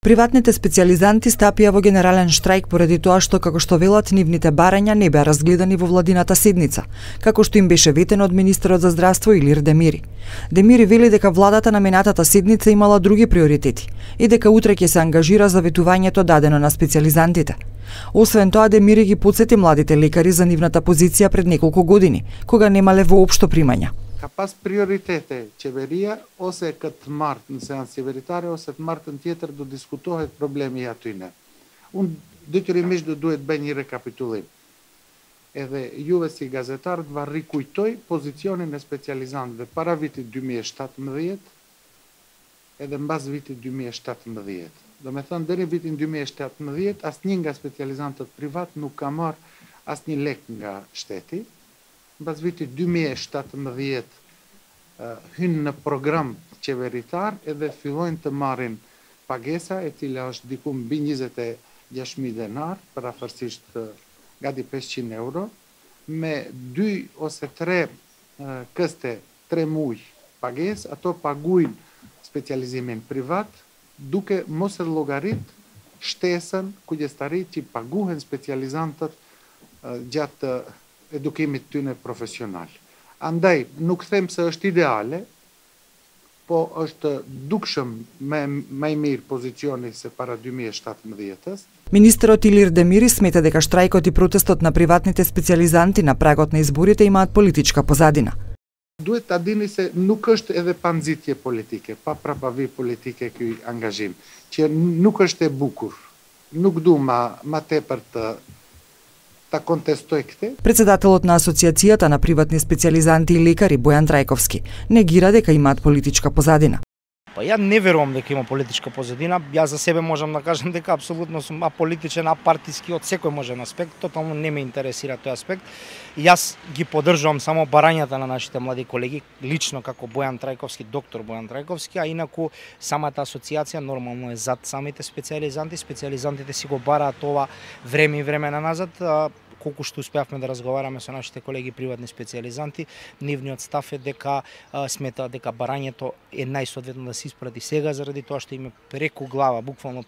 Приватните специјализанти стапија во генерален штрајк поради тоа што, како што велат, нивните барања не беа разгледани во владината седница, како што им беше ветено од министерот за здравство Илир Демири. Демири вели дека владата на минатата седница имала други приоритети и дека утре ќе се ангажира за ветувањето дадено на специјализантите. Освен тоа, Демири ги потсети младите лекари за нивната позиција пред неколку години, кога немале воопшто примања. Ka pas prioritete qeveria ose këtë martë në seancë qeveritare ose të martën tjetër do diskutohet problemi aty ne. Unë detyrimisht do duhet bëj një rekapitulim. Edhe juve si gazetarët va rikujtoj pozicionin e specializantëve para vitit 2017 edhe mbas vitit 2017. Do me thënë, deri vitin 2017 asnjë nga specializantët privat nuk ka marrë asnjë lek nga shteti. Mbas vitit 2017 hynë në program qeveritar edhe fillojnë të marrin pagesa e cila është diku mbi 26.000 denar, parafërsisht gati 500 euro, me 2 ose 3 këste 3 muj pages, ato paguajnë specializimin privat, duke mos e llogarit shtesën kujdestarit që paguhen specializantët gjatë edukimit tyne profesional. Andaj, nuk them se është ideale, po është dukshëm më i mirë pozicioni se para 2017-s. Министерот Илир Демири смета дека штрајкот и протестот на приватните специјализанти на прагот на изборите имаат политичка позадина. Duhet ta dini se nuk është edhe pa nxitje politike, pa prapavi politike ky angazhim, që nuk është e bukur. Nuk du ma tepër ta kontestoj këtë. Председателот на Асоциацијата на приватни специјализанти и лекари Бојан Трајковски негира дека имаат политичка позадина. Па ја не верувам дека има политичка позадина. Јас за себе можам да кажам дека апсолутно сум аполитичен, апартиски од секој можен аспект. Тотално не ме интересира тој аспект. Јас ги поддржувам само барањата на нашите млади колеги, лично како Бојан Трајковски, доктор Бојан Трајковски, а инаку самата асоциација нормално е зад самите специјализанти. Специјализантите си го бараат ова време и време назад. Колку што успеавме да разговараме со нашите колеги приватни специјализанти, нивниот став е дека сметаат дека барањето е најсоодветно да се испрати сега заради тоа што име преку глава, буквално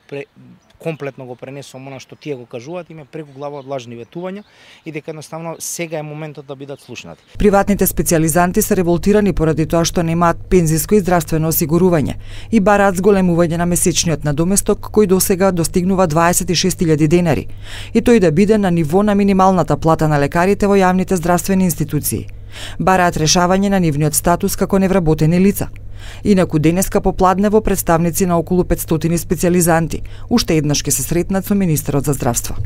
комплетно го пренесувам она што тие го кажуваат, име преку глава од лажни ветувања и дека едноставно сега е моментот да бидат слушнати. Приватните специјализанти се револтирани поради тоа што немаат пензиско и здравствено осигурување и бараат зголемување на месечниот надоместок кој досега достигнува 26.000 денари и тој да биде на ниво на минималната плата на лекарите во јавните здравствени институции. Бараат решавање на нивниот статус како невработени лица. Инаку денеска попладнево представници на околу 500 специјализанти уште еднаш ќе се сретнат со министерот за здравство.